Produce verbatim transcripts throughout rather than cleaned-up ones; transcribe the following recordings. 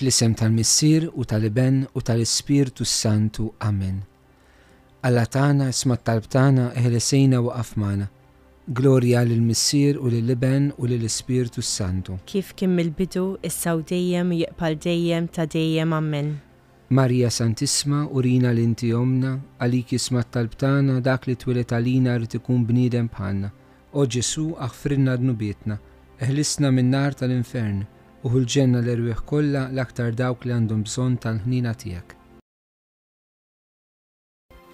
Fl-isem tal-Missier u tal-Iben u tal-Ispirtu Santu. Amen. Alla tagħna, isma' t-talb tagħna, eħlesejna waqaf magħna. Glorja lill-Missier u lill-Iben u lill-Ispirtu Santu. Kif kien mill-bidu, issa u dejjem, jibqa' dejjem ta' dejjem. Amen. Marija Santissma, urina li inti omna, għalik jisma' t-talb tagħna, dak li twieled għalina rrid ikun bniedem bħalna. O Ġesu, aħfrilna dnubietna, eħlisna min-nar tal-infern, u ħu l-ġenna l-erwieħ kollha, l-aktar dawk li għandhom bżonn tal-ħnina tiegħek.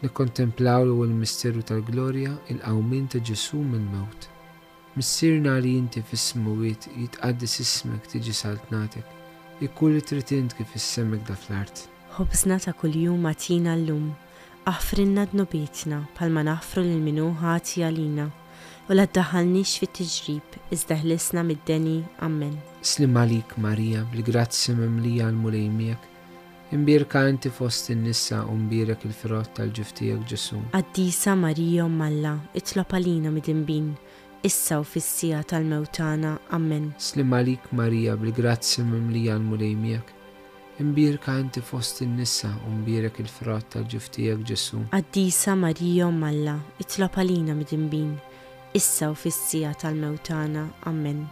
Nikkontemplaw l-ewwel misteru tal-glorja, il-qawmien ta' Ġesu mill-mewt. Missierna li inti fis-smewwiet, jitqaddes ismek, tiġi saltnatek, ikun li trid int kif fis-sema hekk fl-art. Ħobżna ta' kuljum agħtina llum, aħfrilna dnubietna bħalma naħfru lil min hu ħati għalina, u la ddaħħalniex fit-tiġrib, iżda ħlisna mid-deni. Amen. Sliem għalik Marija, bil-grazzja mimlija, l-Mulej miegħek. Imbierka inti fost in-nisa u mbierek il-frott tal-ġuf tiegħek Ġesu. Qaddisa Marija, Omm Alla, itlob għalina midinbin, issa u fis-siegħa tal-mewt tagħna. Amen. Sliem għalik Marija, bil-grazzja mimlija, l-Mulej miegħek. Imbierka inti fost in-nisa u mbierek il-frott tal-ġuf tiegħek Ġesu. Qaddisa Marija, Omm Alla, itlob għalina midinbin, issa u fis-siegħa tal-mewt tagħna. Amen.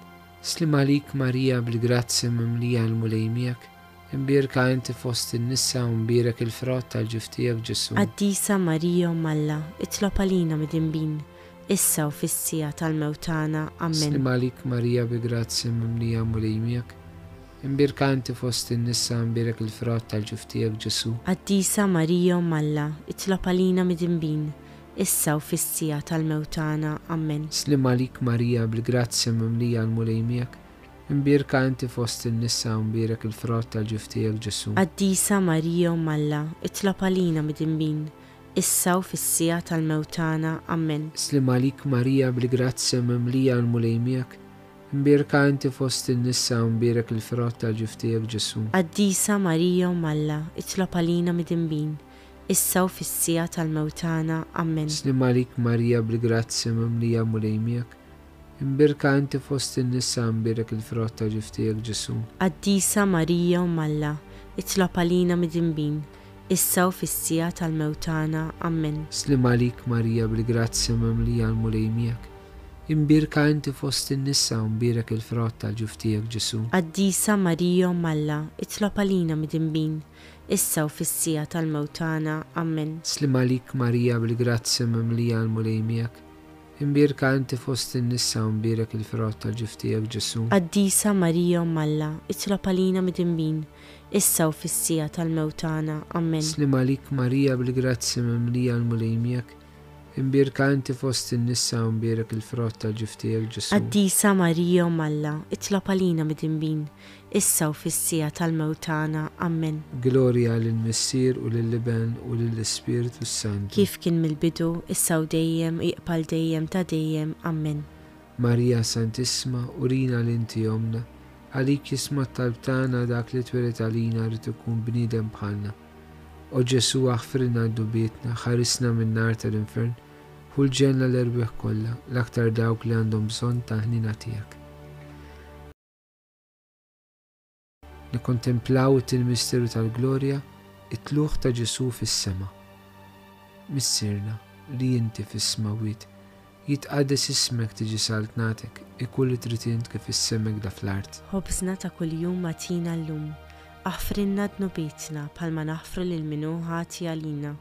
Sliem għalik Marija, bil-grazzja mimlija, l-Mulej miegħek. Imbierka inti fost in-nisa u mbierek il-frott tal-ġuf tiegħek Ġesu. Qaddisa Marija, Omm Alla, itlob għalina midinbin, issa u fis-siegħa tal-mewt tagħna. Amen. Sliem għalik Marija, bil-grazzja mimlija, Mulej miegħek. Imbierka inti fost in-nisa, mbierek il-frott tal-ġuf tiegħek Ġesu. Qaddisa Marija, Omm Alla, itlob għalina midinbin, issa u fis-siegħa tal-mewt tagħna. Amen. Sliem għalik Marija, bil-grazzja mimlija, l-Mulej miegħek. Imbierka inti fost in-nisa u mbierek il-frott tal-ġuf tiegħek Ġesu. Qaddisa Marija, Omm Alla, itlob għalina midinbin, issa u fis-siegħa tal-mewt tagħna. Amen. Sliem għalik Marija, bil-grazzja mimlija, l-Mulej miegħek. Imbierka inti fost in-nisa u mbierek il-frott tal-ġuf tiegħek Ġesu. Qaddisa Marija, Omm Alla, itlob għalina midinbin, issa u fis-siegħa tal-mewt tagħna. Amen. Sliem għalik Marija, bil-grazzja mimlija, Mulej miegħek. Imbierka inti fost in-nisa, mbierek il-frott tal-ġuf tiegħek Ġesu. Qaddisa Marija, Omm Alla, itlob għalina midinbin, issa u fis-siegħa tal-mewt tagħna. Amen. Sliem għalik Marija, bil-grazzja mimlija, l-Mulej miegħek. Imbierka inti fost in-nisa u mbierek il-frott tal-ġuf tiegħek Ġesu. Qaddisa Marija, Omm Alla, itlob għalina midinbin, issa u fis-siegħa tal-mewt tagħna. Amen. Sliem għalik Marija, bil-grazzja mimlija, l-Mulej miegħek. Imbierka inti fost in-nisa u mbierek il-frott tal-ġuf tiegħek Ġesu. Qaddisa Marija, Omm Alla, itlob għalina midinbin, issa u fis-siegħa tal-mewt tagħna. Amen. Sliem għalik Marija, bil-grazzja mimlija, l-Mulej miegħek. Imbierka inti fost in-nisa u mbierek il-frott tal-ġuf tiegħek Ġesu. Qaddisa Marija, Omm Alla, itlob għalina midinbin, issa u fis-siegħa tal-mewt tagħna. Amen. Glorja lill-Missier u lill-Iben u lill-Ispirtu Santu. Kif kien mill-bidu, issa u dejjem, jibqa' dejjem ta' dejjem. Amen. Marija Santissma, urina li inti omna, għalik jisma' t-talb tagħna, dak li twieled għalina rrid ikun bniedem bħalna. O Ġesu, aħfrilna dnubietna, ħarisna min-nar tal-infern, ħu l-ġenna l-erwieħ kollha, l-aktar dawk li għandhom bżonn tal-ħnina tiegħek. Nikkontemplaw it-tieni misteru tal-glorja, it-tlugħ ta' Ġesu fis-sema. Missierna, li inti fis-smewwiet, jitqaddes ismek, tiġi saltnatek, ikun li trid int kif fis-sema hekk fl-art. Ħobżna ta' kuljum agħtina llum, aħfrilna dnubietna bħalma naħfru lil min hu ħati għalina.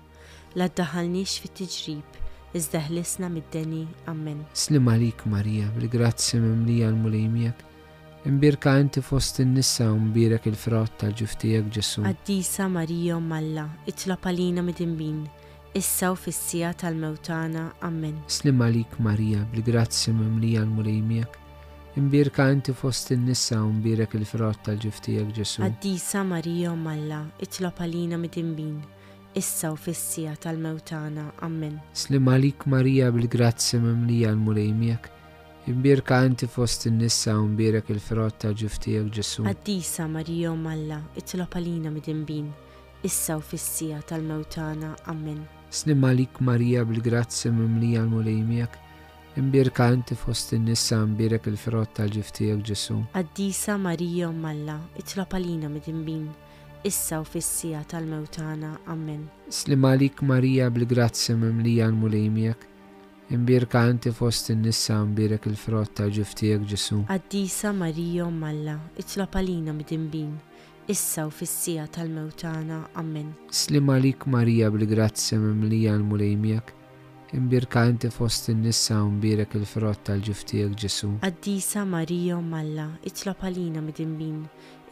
La ddaħħalniex fit-tiġrib, iżda ħlisna mid-deni. Amen. Sliem għalik Marija, bil-grazzja mimlija, l-Mulej miegħek. Imbierka inti fost in-nisa u mbierek il-frott tal-ġuf tiegħek Ġesu. Qaddisa Marija, Omm Alla, itlob għalina midinbin, issa u fis-siegħa tal-mewt tagħna. Amen. Sliem għalik Marija, bil-grazzja mimlija, l-Mulej miegħek. Imbierka inti fost in-nisa u mbierek il-frott tal-ġuf tiegħek Ġesu. Qaddisa Marija, Omm Alla, itlob għalina midinbin, issa u fis-siegħa tal-mewt tagħna. Amen. Sliem għalik Marija, bil-grazzja mimlija, l-Mulej miegħek. Imbierka inti fost in-nisa u mbierek il-frott tal-ġuf tiegħek Ġesu. Qaddisa Marija, Omm Alla, itlob għalina midinbin, issa u fis-siegħa tal-mewt tagħna. Amen. Sliem għalik Marija, bil-grazzja mimlija, l-Mulej miegħek. Imbierka inti fost in-nisa, imbierek il-frott tal-ġuf tiegħek Ġesù. Qaddisa Marija Omm Alla, itlob għalina midinbin, issa u fis-siegħa tal-mewt tagħna. Amen. Slim għalik Marija bil-grazzja mimlija l-Mulej miegħek. Imbierka inti fost in-nisa, imbierek il-frott tal-ġuf tiegħek Ġesù. Qaddisa Marija Omm Alla, itlob għalina midinbin, issa u fis-siegħa tal-mewt tagħna. Amen. Slim għalik Marija bil-grazzja mimlija l-Mulej miegħek. Imbierka inti fost in-nisa u mbierek il-frott tal-ġuf tiegħek Ġesù. Qaddisa Marija Omm Alla, itlob għalina midinbin,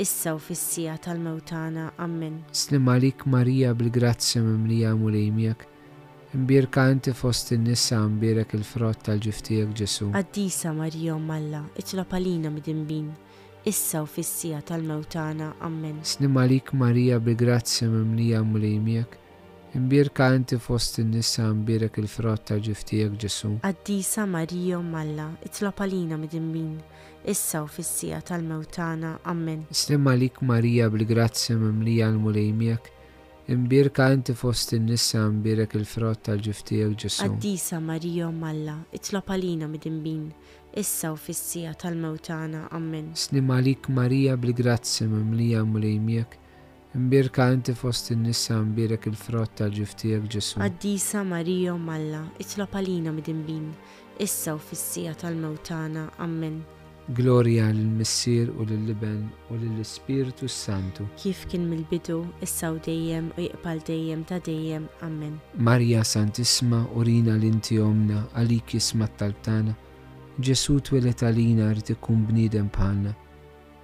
issa u fis-siegħa tal-mewt tagħna. Amen. Slim għalik Marija bil-grazzja mimlija Mulej miegħek. Imbierka inti fost in-nisa u mbierek il-frott tal-ġuf tiegħek Ġesù. Qaddisa Marija Omm Alla, itlob għalina midinbin, issa u fis-siegħa tal-mewt tagħna. Amen. Slim għalik Marija bil-grazzja mimlija Mulej miegħek. Imbierka inti fost in-nisa, imbierek il-frott tal-ġuf tiegħek Ġesù. Qaddisa Marija Omm Alla, itlob għalina midinbin, issa u fis-siegħa tal-mewt tagħna. Amen. Slim għalik Marija bil-grazzja mimlija l-Mulej miegħek. Imbierka inti fost in-nisa, imbierek il-frott tal-ġuf tiegħek Ġesù. Qaddisa Marija Omm Alla, itlob għalina midinbin, issa u fis-siegħa tal-mewt tagħna. Amen. Slim għalik Marija bil-grazzja mimlija l-Mulej miegħek. Imbierka inti fost in-nisa, imbierek il-frott tal-ġuf tiegħek Ġesù. Qaddisa Marija Omm Alla, itlob għalina midinbin, issa u fis-siegħa tal-mewt tagħna. Amen. Glorja lill-Missier u lill-Iben u lill-Ispirtu s-Santu. Kif kien mill-bidu, issa u dejjem u jibqa' dejjem ta' dejjem. Amen. Marija Santissima, urina li inti omna, għalik jisma' t-talb tagħna. Ġesù twieled għalina rid ikun bniedem bħalna.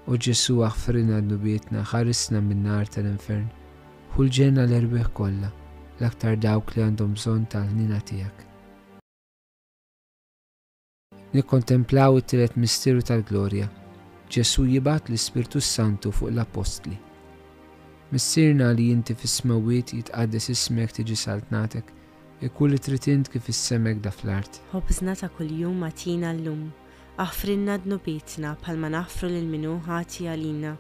O Ġesù aħfrilna dnubietna, ħarisna min-nar tal-infern. Ħu l-ġenna l-erwieħ kollha, l-aktar dawk li għandhom bżonn tal-ħniena tiegħek. Nikkontemplaw it-tielet misteru tal-glorja. Ġesù jibgħat l-Ispirtu Santu fuq l-Appostli. Missierna li inti fis-smewwiet, jitqaddes ismek, tiġi saltnatek, ikun li trid int kif is-semek da fl-art. Ħobżna ta' kuljum agħtina llum. Aħfrilna dnubietna bħalma naħfru lil min hu ħati għalina.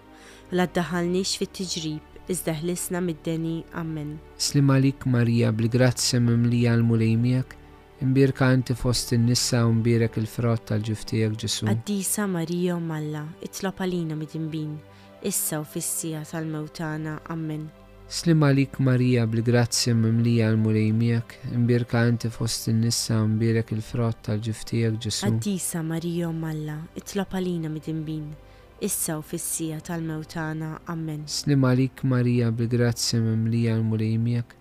U la ddaħħalniex fit-tiġrib, iżda ħlisna mid-deni. Amen. Slim għalik Marija bil-grazzja mimlija l-Mulej miegħek, imbierka inti fost in-nisa u mbierek il-frott tal-ġuf tiegħek Ġesù. Qaddisa Marija Omm Alla, itlob għalina midinbin, issa u fis-siegħa tal-mewt tagħna. Amen. Slim għalik Marija bil-grazzja mimlija l-Mulej miegħek, imbierka inti fost in-nisa u mbierek il-frott tal-ġuf tiegħek Ġesù. Qaddisa Marija Omm Alla, itlob għalina midinbin, issa u fis-siegħa tal-mewt tagħna. Amen. Slim għalik Marija bil-grazzja mimlija l-Mulej miegħek,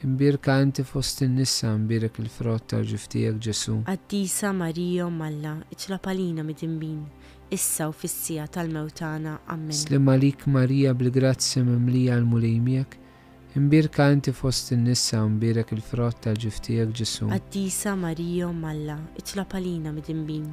imbierka inti fost in-nisa mbierek il-frott tal-ġuf tiegħek Ġesù. Qaddisa Marija Omm Alla, itlob għalina midinbin, issa u fis-siegħa tal-mewt tagħna. Amen. Slim għalik Marija bil-grazzja mimlija l-Mulej miegħek, imbierka inti fost in-nisa u mbierek il-frott tal-ġuf tiegħek Ġesù. Qaddisa Marija Omm Alla, itlob għalina midinbin,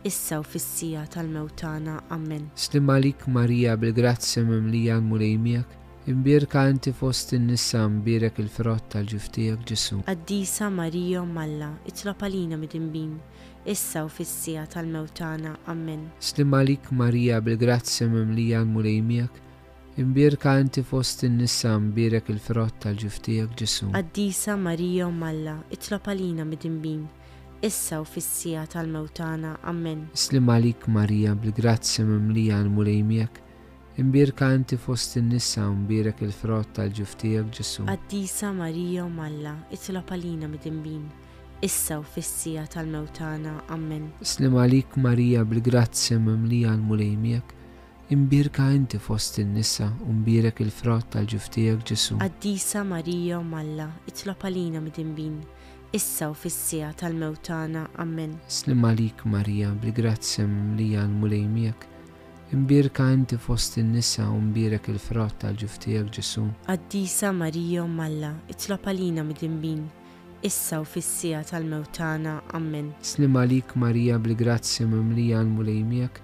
issa u fis-siegħa tal-mewt tagħna. Amen. Slim għalik Marija bil-grazzja mimlija l-Mulej miegħek, imbierka inti fost in-nisa mbierek il-frott tal-ġuf tiegħek Ġesù. Qaddisa Marija Omm Alla, itlob għalina midinbin, issa u fis-siegħa tal-mewt tagħna. Amen. Slim għalik Marija bil-grazzja mimlija l-Mulej miegħek, imbierka inti fost in-nisa mbierek il-frott tal-ġuf tiegħek Ġesù. Qaddisa Marija Omm Alla, itlob għalina midinbin, issa u fis-siegħa tal-mewt tagħna. Amen. Slim għalik Marija bil-grazzja mimlija l-Mulej miegħek, imbierka inti fost in-nisa u mbierek il-frott tal-ġuf tiegħek Ġesù. Qaddisa Marija Omm Alla, itlob għalina midinbin, issa u fis-siegħa tal-mewt tagħna. Amen. Slim għalik Marija bil-grazzja mimlija l-Mulej miegħek, imbierka inti fost in-nisa u mbierek il-frott tal-ġuf tiegħek Ġesù. Qaddisa Marija Omm Alla, itlob għalina midinbin, issa u fis-siegħa tal-mewt tagħna. Amen. Slim għalik Marija bil-grazzja mimlija l-Mulej miegħek, imbierka inti fost in-nisa u mbierek il-frott tal-ġuf tiegħek Ġesù. Qaddisa Marija Omm Alla, itlob għalina midinbin, issa u fis-siegħa tal-mewt tagħna. Amen. Slim għalik Marija bil-grazzja mimlija l-Mulej miegħek,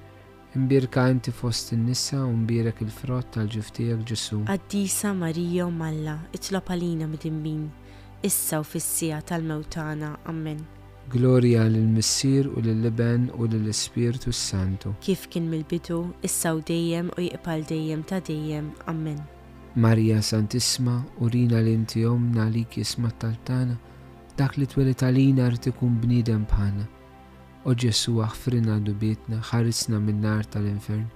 imbierka inti fost in-nisa u mbierek il-frott tal-ġuf tiegħek Ġesù. Qaddisa Marija Omm Alla, itlob għalina midinbin, issa u fis-siegħa tal-mewt tagħna. Amen. Glorja lill-Missier u lill-Iben u lill-Ispirtu s-Santu. Kif kien mill-bidu, issa u dejjem u jibqa' dejjem ta' dejjem. Amen. Marija Santissima, urina li inti omna għalik jisma' t-talb tagħna, dak li twieled għalina rid ikun bniedem bħalna. O Ġesù, aħfrilna dnubietna, ħarisna min-nar tal-infern,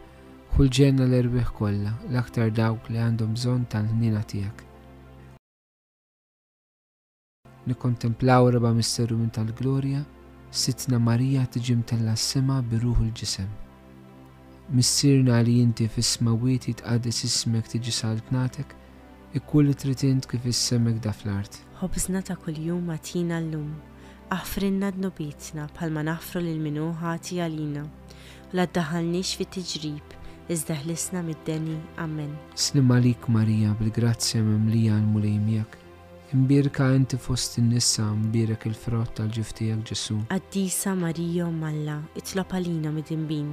ħu l-ġenna l-erwieħ kollha, l-aktar dawk li għandhom bżonn tal-ħniena tiegħek. Nikkontemplaw raba' misteru minn tal-glorja, Sidtna Marija tiġi mtella' s-sema bir-ruħ u l-ġisem. Missierna li inti fis-smewwiet jitqaddes ismek tiġi saltnatek, ikun li trid int kif is-sema hekk fl-art. Ħobżna ta' kuljum agħtina llum. Aħfrilna dnubietna bħalma naħfru lil min hu ħati għalina. U la ddaħħalniex fit-tiġrib, iżda ħlisna mid-deni. Amen. Sliem għalik Marija, bil-grazzja mimlija l-Mulej miegħek. Imbierka inti fost in-nisa, mbierek il-frott tal-ġuf tiegħek Ġesù. Qaddisa Marija Omm Alla, itlob għalina midinbin,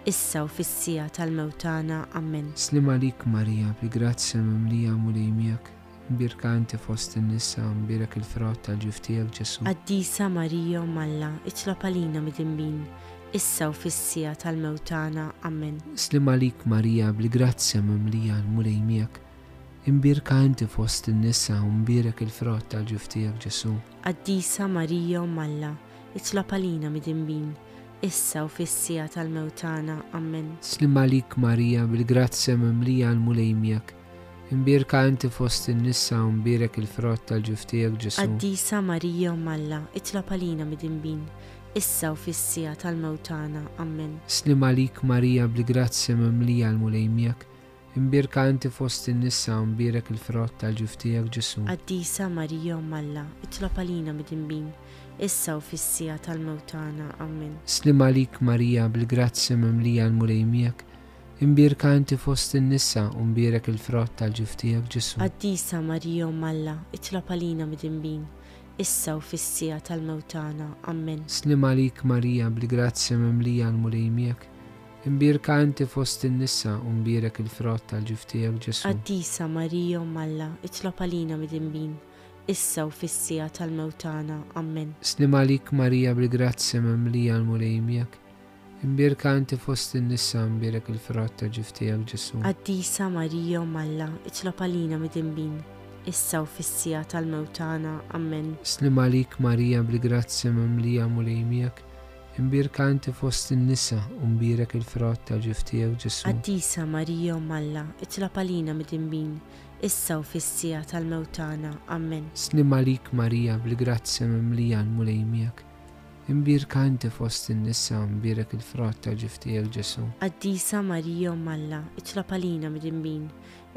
issa u fis-siegħa tal-mewt tagħna. Amen. Sliem għalik Marija, bil-grazzja mimlija Mulej miegħek. Imbierka inti fost in-nisa, mbierek il-frott tal-ġuf tiegħek Ġesù. Qaddisa Marija Omm Alla, itlob għalina midinbin, issa u fis-siegħa tal-mewt tagħna. Amen. Sliem għalik Marija, bil-grazzja mimlija l-Mulej miegħek. Imbierka inti fost in-nisa u mbierek il-frott tal-ġuf tiegħek Ġesù. Qaddisa Marija Omm Alla, itlob għalina midinbin, issa u fis-siegħa tal-mewt tagħna. Amen. Sliem għalik Marija, bil-grazzja mimlija l-Mulej miegħek. Imbierka inti fost in-nisa u mbierek il-frott tal-ġuf tiegħek Ġesù. Qaddisa Marija Omm Alla, itlob għalina midinbin, issa u fis-siegħa tal-mewt tagħna. Amen. Sliem għalik Marija, bil-grazzja mimlija l-Mulej miegħek. Imbierka inti fost in-nisa u mbierek il-frott tal-ġuf tiegħek Ġesù. Qaddisa Marija Omm Alla, itlob għalina midinbin, issa u fis-siegħa tal-mewt tagħna. Amen. Sliem għalik Marija, bil-grazzja mimlija l-Mulej miegħek. Imbierka inti fost in-nisa u mbierek il-frott tal-ġuf tiegħek Ġesù. Qaddisa Marija Omm Alla, itlob għalina midinbin, issa u fis-siegħa tal-mewt tagħna. Amen. Sliem għalik Marija, bil-grazzja mimlija l-Mulej miegħek. Imbierka inti fost in-nisa u mbierek il-frott tal-ġuf tiegħek Ġesù. Qaddisa Marija Omm Alla, itlob għalina midinbin, issa u fis-siegħa tal-mewt tagħna. Amen. Sliem għalik Marija, bil-grazzja mimlija l-Mulej miegħek. Imbierka inti fost in-nisa u mbierek il-frott tal-ġuf tiegħek Ġesù. Qaddisa Marija Omm Alla, itlob għalina midinbin, issa u fis-siegħa tal-mewt tagħna. Amen. Sliem għalik Marija, bil-grazzja mimlija Mulej miegħek. Imbierka inti fost in-nisa u mbierek il-frott tal-ġuf tiegħek Ġesù. Qaddisa Marija Omm Alla, itlob għalina midinbin, issa u fis-siegħa tal-mewt tagħna. Amen. Sliem għalik Marija, bil-grazzja mimlija l-Mulej miegħek. Imbierka inti fost in-nisa u mbierek il-frott tal-ġuf tiegħek Ġesù. Qaddisa Marija Omm Alla, itlob għalina midinbin,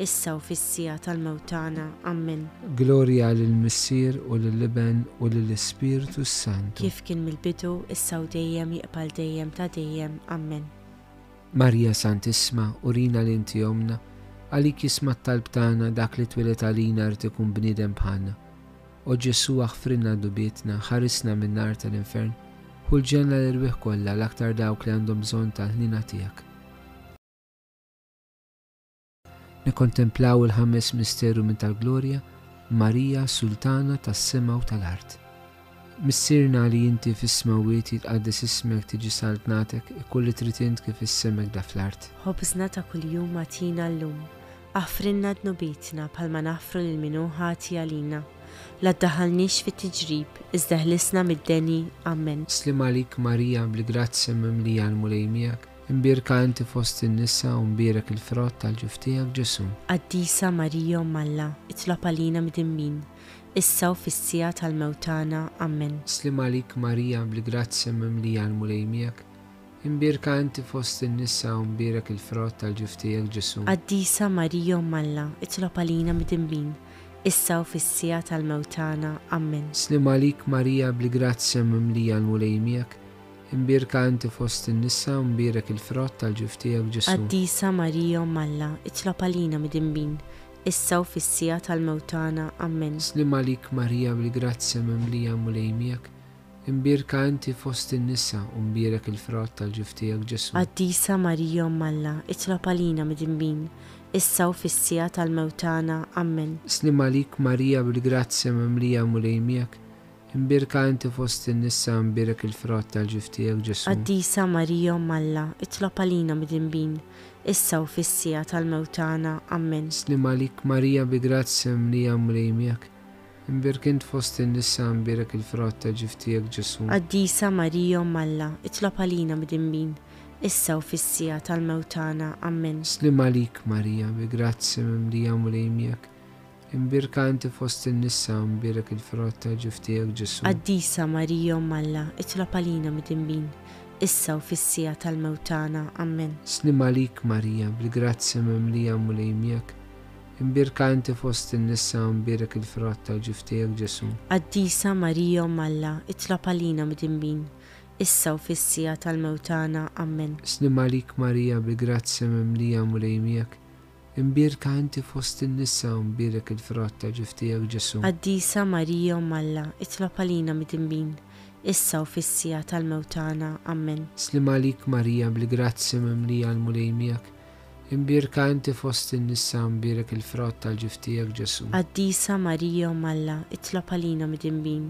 issa u fis-siegħa tal-mewt tagħna. Amen. Glorja lill-Missier u lill-Iben u lill-Ispirtu s-Santu. Kif kien mill-bidu, issa u dejjem, jibqa' dejjem ta' dejjem. Amen. Marija Santissima, urina li inti omna, għalik jisma' t-talb tagħna dak li twieled għalina rid ikun bniedem bħalna. O Ġesù, aħfrilna dnubietna, ħarisna min-nar tal-infern, ħu l-ġenna l-erwieħ kollha, l-aktar dawk li għandhom bżonn tal-ħniena tiegħek. Nikkontemplaw il-ħames misteru minn tal-glorja, Marija Sultana tas-sema u tal-art. Missierna li inti fis-smewwiet jitqaddes ismek, tiġi saltnatek, ikun li trid int kif is-sema hekk fl-art. Ħobżna ta' kuljum agħtina llum. Aħfrilna dnubietna bħalma naħfru lil min hu ħati għalina. La ddaħħalniex fit-tiġrib, iżda ħlisna mid-deni. Amen. Sliem għalik Marija, bil-grazzja mimlija l-Mulej miegħek. Imbierka inti fost in-nisa u mbierek il-frott tal-ġuf tiegħek Ġesù. Qaddisa Marija Omm Alla, itlob għalina midinbin, issa u fis-siegħa tal-mewt tagħna. Amen. Sliem għalik Marija, bil-grazzja mimlija l-Mulej miegħek. Imbierka inti fost in-nisa u mbierek il-frott tal-ġuf tiegħek Ġesù. Qaddisa Marija Omm Alla, itlob għalina midinbin, issa u fis-siegħa tal-mewt tagħna. Amen. Sliem għalik Marija, bil-grazzja mimlija l-Mulej miegħek. Imbierka inti fost in-nisa u mbierek il-frott tal-ġuf tiegħek Ġesù. Qaddisa Marija Omm Alla, itlob għalina midinbin, issa u fis-siegħa tal-mewt tagħna. Amen. Sliem għalik Marija, bil-grazzja mimlija Mulej miegħek. Imbierka inti fost in-nisa u mbierek il-frott tal-ġuf tiegħek Ġesù. Qaddisa Marija Omm Alla, itlob għalina midinbin, issa u fis-siegħa tal-mewt tagħna. Amen. Sliem għalik Marija, bil-grazzja mimlija Mulej miegħek. Imbierka inti fost in-nisa u mbierek il-frott tal-ġuf tiegħek Ġesù. Qaddisa Marija Omm Alla, itlob għalina midinbin, issa u fis-siegħa tal-mewt tagħna. Amen. Sliem għalik Marija, bil-grazzja mimlija Mulej miegħek. Imbierek int fost in-nisa, imbierek il-frott ta' ġuf tiegħek Ġesù. Qaddisa Marija Omm Alla, itlob għalina midinbin, issa u fis-siegħa tal-mewt tagħna. Amen. Sliem għalik Marija, bi grazzja mimlija Mulej miegħek. Imbierka inti fost in-nisa, imbierek il-frott ta' ġuf tiegħek Ġesù. Qaddisa Marija Omm Alla, itlob għalina midinbin, issa u fis-siegħa tal-mewt tagħna. Amen. Sliem għalik Marija, bil-grazzja mimlija Mulej miegħek. Imbierka inti fost in-nisa, imbierek il-frott tal-ġuf tiegħek Ġesù. Qaddisa Marija Omm Alla, itlob għalina midinbin, issa u fis-siegħa tal-mewt tagħna. Amen. Sliem għalik Marija, bil-grazzja mimlija Mulej miegħek. Imbierka inti fost in-nisa, imbierek il-frott tal-ġuf tiegħek Ġesù. Qaddisa Marija Omm Alla, itlob għalina midinbin, issa u fis-siegħa tal-mewt tagħna. Amen. Sliem għalik Marija, bil-grazzja mimlija l-Mulej miegħek. Imbierka inti fost in-nisa, imbierek il-frott tal-ġuf tiegħek Ġesù. Qaddisa Marija Omm Alla, itlob għalina midinbin,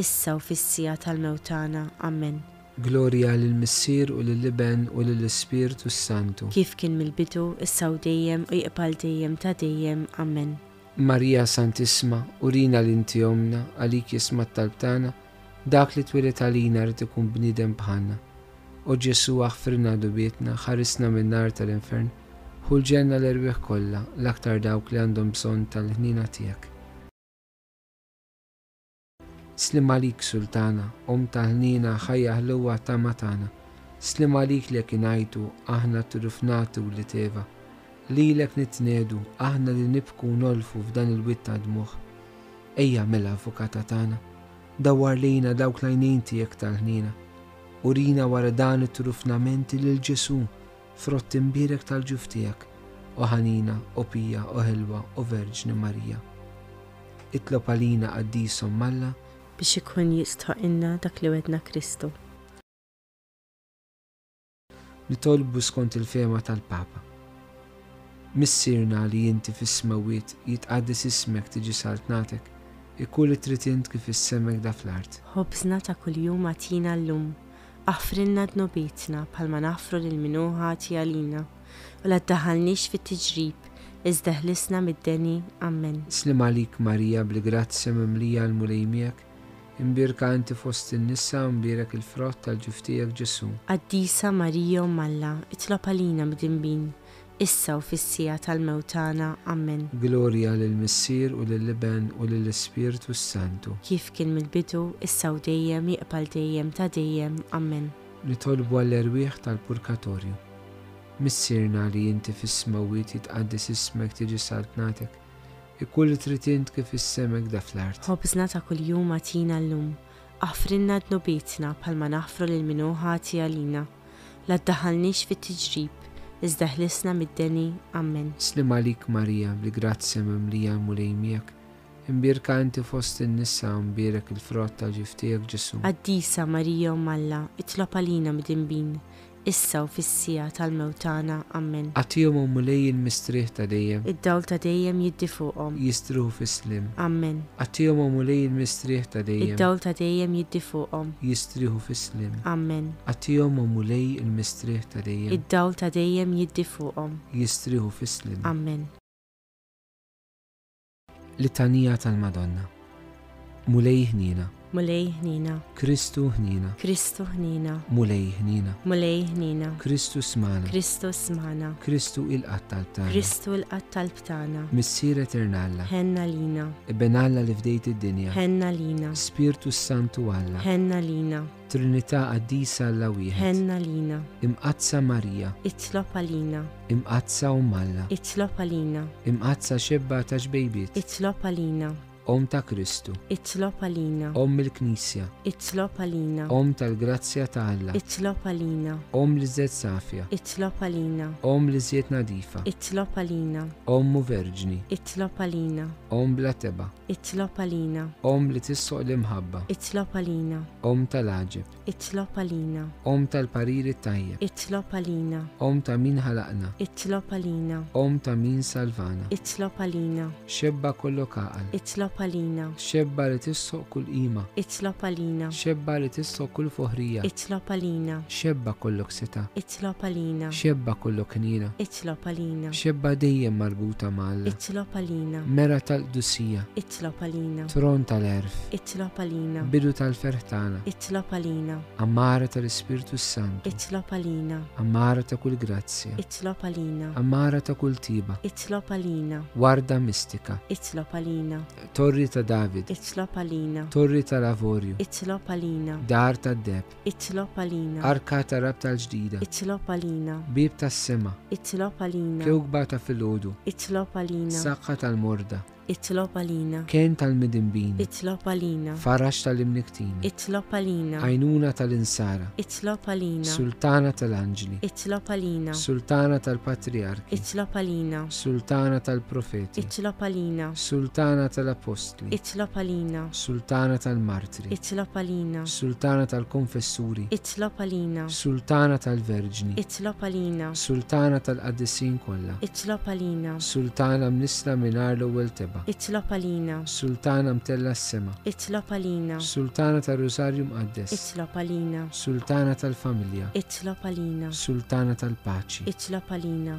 issa u fis-siegħa tal-mewt tagħna. Amen. Glorja lill-Missier u lill-Iben u lill-Ispirtu s-Santu. Kif kien mill-bidu, issa u dejjem u jibqa' dejjem ta' dejjem. Amen. Marija Santissima, urina li inti omna, għalik jisma' t-talb tagħna, dak li twieled għalina rid ikun bniedem bħalna. O Ġesù, aħfrilna dnubietna, ħarisna min-nar tal-infern, ħu l-ġenna l-erwieħ kollha, l-aktar dawk li għandhom bżonn tal-ħniena tiegħek. Sliem għalik Sultana, Omm tal-ħniena, ħajja ħluwa tama tagħna. Sliem għalik li ngħidu aħna turufnati u li teva. Lilek nitnedu, aħna li nibku nolfu f'dan il-wied ta' dmugħ. Ejja mela avukata tagħna, dawwar lejna dawk l-għajnejn tiegħek tal-ħniena. Urina wara dan it-turufnamenti lil Ġesù, frott imbierek tal-ġuf tiegħek, o ħanina, o pija, o ħelwa, o Verġni Marija. Itlob għalina qaddis Omm Alla, biex ikun jistħoqilna dak li wedna Kristu. Nitolbu skont il-fehma tal-Papa. Missierna li inti fis-smewwiet, jitqaddes ismek, tiġi saltnatek, ikun li trid int kif fis-sema hekk fl-art. Ħobżna ta' kuljum agħtina llum, aħfrilna dnubietna bħalma naħfru lil min hu ħati għalina, u la ddaħħalniex fit-tiġrib, iżda ħlisna mid-deni. Amen. Sliem għalik Marija, bil-grazzja mimlija l-Mulej miegħek, imbierka inti fost in-nisa, imbierek il-frott tal-ġuf tiegħek Ġesù. Qaddisa Marija Omm Alla, itlob għalina midinbin, issa u fis-siegħa tal-mewt tagħna. Amen. Glorja lill-Missier u lill-Iben u lill-Ispirtu s-Santu. Kif kien mill-bidu, issa u dejjem, jibqa' dejjem ta' dejjem. Amen. Nitolbu għall-erwieħ tal-Purgatorju. Missierna li inti fis-smewwiet, jitqaddes ismek, tiġi saltnatek, ikun li trid int kif fis-sema hekk fl-art. Ħobżna ta' kuljum agħtina llum, aħfrilna dnubietna bħalma naħfru lil min hu ħati għalina, la ddaħħalniex fit-tiġrib, iżda ħlisna mid-deni. Amen. Sliem għalik Marija, bil-grazzja mimlija Mulej miegħek, imbierka inti fost in-nisa, imbierek il-frott tal-ġuf tiegħek Ġesù. Qaddisa Marija Omm Alla, itlob għalina midinbin, issa u fis-siegħa tal-mewt tagħna. Amen. Agħtihom o Mulej il-mistrieħ ta' dejjem. Id-dawl ta' dejjem jiddi fuqhom. Jistrieħu fis-sliem. Amen. Agħtihom o Mulej il-mistrieħ ta' dejjem. Id-dawl ta' dejjem jiddi fuqhom. Jistrieħu fis-sliem. Amen. Agħtihom o Mulej il-mistrieħ ta' dejjem. Id-dawl ta' dejjem jiddi fuqhom. Jistrieħu fis-sliem. Amen. Litanija tal-Madonna. Mulej ħniena. Mulej ħniena. Kristu ħniena. Kristu ħniena. Mulej ħniena. Mulej ħniena. Kristu smana. Kristu smana. Kristu ilqa' t-talb tagħna. Kristu ilqa' t-talb tagħna. Missier Etern Alla. Ħenn għalina. Iben Alla li fdejt id-dinja. Ħenn għalina. Spirtu Santu Alla. Ħenn għalina. Trinità Qaddisa Alla wieħed. Ħenn għalina. Imqaddsa Marija. Itlob għalina. Imqaddsa Omm Alla. Itlob għalina. Imqaddsa xebba ta' xbejbiet. Itlob għalina. Omm ta' Kristu. Itlob għalina. Omm il-Knisja. Itlob għalina. Omm tal-grazzja ta' Alla. Itlob għalina. Omm l-iżjed safja. Itlob għalina. Omm l-iżjed nadifa. Itlob għalina. Omm u Verġni. Itlob għalina. Omm bla tebgħa. Itlob għalina. Omm li tissoq l-imħabba. Itlob għalina. Omm tal-għaġeb. Itlob għalina. Omm tal-pariri tajjeb. Itlob għalina. Omm ta' min ħalaqna. Itlob għalina. Omm ta' min salvana. Itlob għalina. Xebba kollok għaqal. Itlob Itlob għalina. Xebba li tistħoqq kull qima. Itlob għalina. Xebba li tistħoqq kull foħrija. Itlob għalina. Xebba kollok setgħa. Itlob għalina. Xebba kollok ħniena. Itlob għalina. Xebba dejjem marbuta ma' Alla. Itlob għalina. Mera tal-qdusija. Itlob għalina. Tron tal-għerf. Itlob għalina. Bidu tal-ferħ tagħna. Itlob għalina. Għammara tal-Ispirtu s-Santu. Itlob għalina. Għammara ta' kull grazzja. Itlob għalina. Għammara ta' kull tiba. Itlob għalina. Warda mistika. Itlob għalina. Torri ta' David. Itlob għalina. Torri tal-Avorju. Itlob għalina. Dar tad-deheb. Itlob għalina. Arka ta' rabta l-ġdida. Itlob għalina. Bieb tas-sema. Itlob għalina. Kewkba ta' filgħodu. Itlob għalina. Saħħa tal-morda. Itlob għalina. Kenn tal-midinbin. Itlob għalina. Faraġ tal-imniktin. Itlob għalina. Għajnuna tal-insara. Itlob għalina. Sultana tal-anġli. Itlob għalina. Sultana tal-patriarki. Itlob għalina. Sultana tal-profeti. Itlob għalina. Sultana tal-apostli. Itlob għalina. Sultana tal-martri. Itlob għalina. Sultana tal-konfessuri. Itlob għalina. Sultana tal-verġni. Itlob għalina. Sultana tal-qaddisin kollha. Itlob għalina. Sultana mnissla mingħajr l-ewwel tebgħa. Itlob għalina. Sultana mtellgħa s-sema. Itlob għalina. Sultana tar-Rusarju Mqaddes. Itlob għalina. Sultana tal-familja. Itlob għalina. Sultana tal-paċi. Itlob għalina.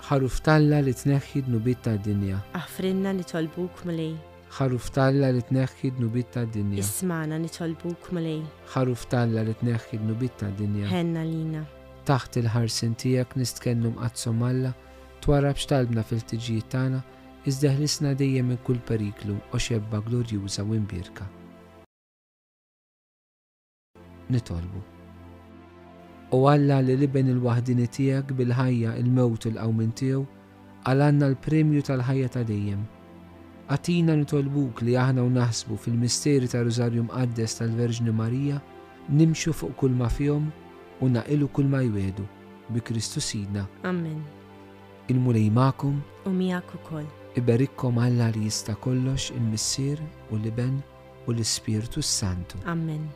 Ħaruf t'Alla li tneħħi dnubiet tad-dinja. Aħfrilna nitolbuk Mulej. Ħaruf t'Alla li tneħħi dnubiet tad-dinja. Ismagħna nitolbuk Mulej. Ħaruf t'Alla li tneħħi dnubiet tad-dinja. Ħenn għalina. Taħt il-ħarsien tiegħek nistkennu Mqaddsa Omm Alla, twarrabx talbna fil-ħtiġijiet tagħna, iżda ħlisna dejjem minn kull periklu o xebba glorjuża u imbierka. Nitolbu. O Alla li l-Iben il-waħdini tiegħek bil-ħajja, il-mewt u l-qawmien tiegħu, għalanna l-premju tal-ħajja ta' dejjem. Agħtina nitolbuk li aħna u naħsbu fil-misteri ta' Rużarju Mqaddes tal-Verġni Marija, nimxu fuq kull ma fihom u naqilu kull ma jwedu. Bi Kristu Sidna. Amen. Il-Mulej magħkom u miegħek ukoll. Iberikkom Alla li jista' kollox, il-Missier u l-Iben u l-Ispirtu s-Santu. Amen.